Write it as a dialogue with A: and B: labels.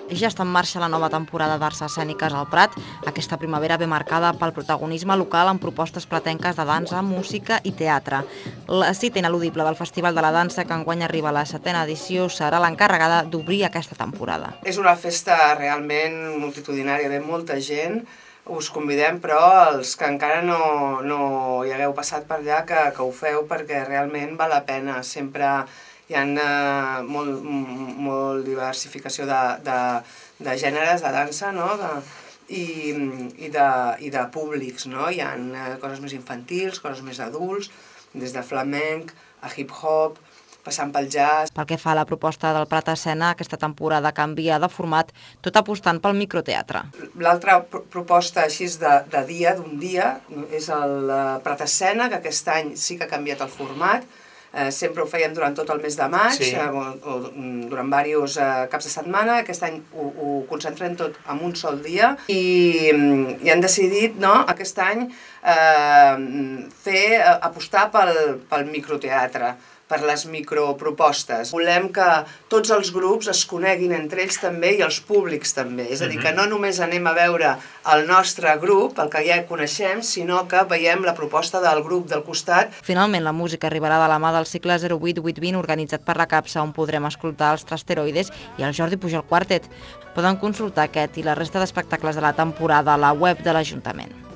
A: Ja està en marxa la nova temporada d'Arts Escèniques al Prat. Aquesta primavera ve marcada pel protagonisme local amb propostes platenques de dansa, música i teatre. La cita ineludible del Festival de la Dansa, que enguany arriba a la 7ª edició, serà l'encarregada d'obrir aquesta temporada.
B: És una festa realment multitudinària, ve molta gent. Us convidem, però, els que encara no hi hagueu passat per allà, que ho feu, perquè realment val la pena. Sempre hi ha molt diversificació de gèneres de dansa, no? I de públics, no? Hi ha coses més infantils, coses més adults, des de flamenc a hip-hop, passant pel jazz.
A: Pel que fa a la proposta del Prat Escena, aquesta temporada canvia de format, tot apostant pel microteatre.
B: L'altra proposta així de dia, d'un dia, és el Prat Escena, que aquest any sí que ha canviat el format. Sempre ho fèiem durant tot el mes de maig, durant diversos caps de setmana. Aquest any ho concentrem tot en un sol dia i han decidit aquest any apostar pel microteatre, per les micropropostes. Volem que tots els grups es coneguin entre ells també i els públics també. És a dir, que no només anem a veure el nostre grup, el que ja coneixem, sinó que veiem la proposta del grup del costat.
A: Finalment, la música arribarà de la mà del cicle 08-820 organitzat per la CAPSA, on podrem escoltar els Trasteroides i el Jordi Pujol Quartet. Poden consultar aquest i la resta d'espectacles de la temporada a la web de l'Ajuntament.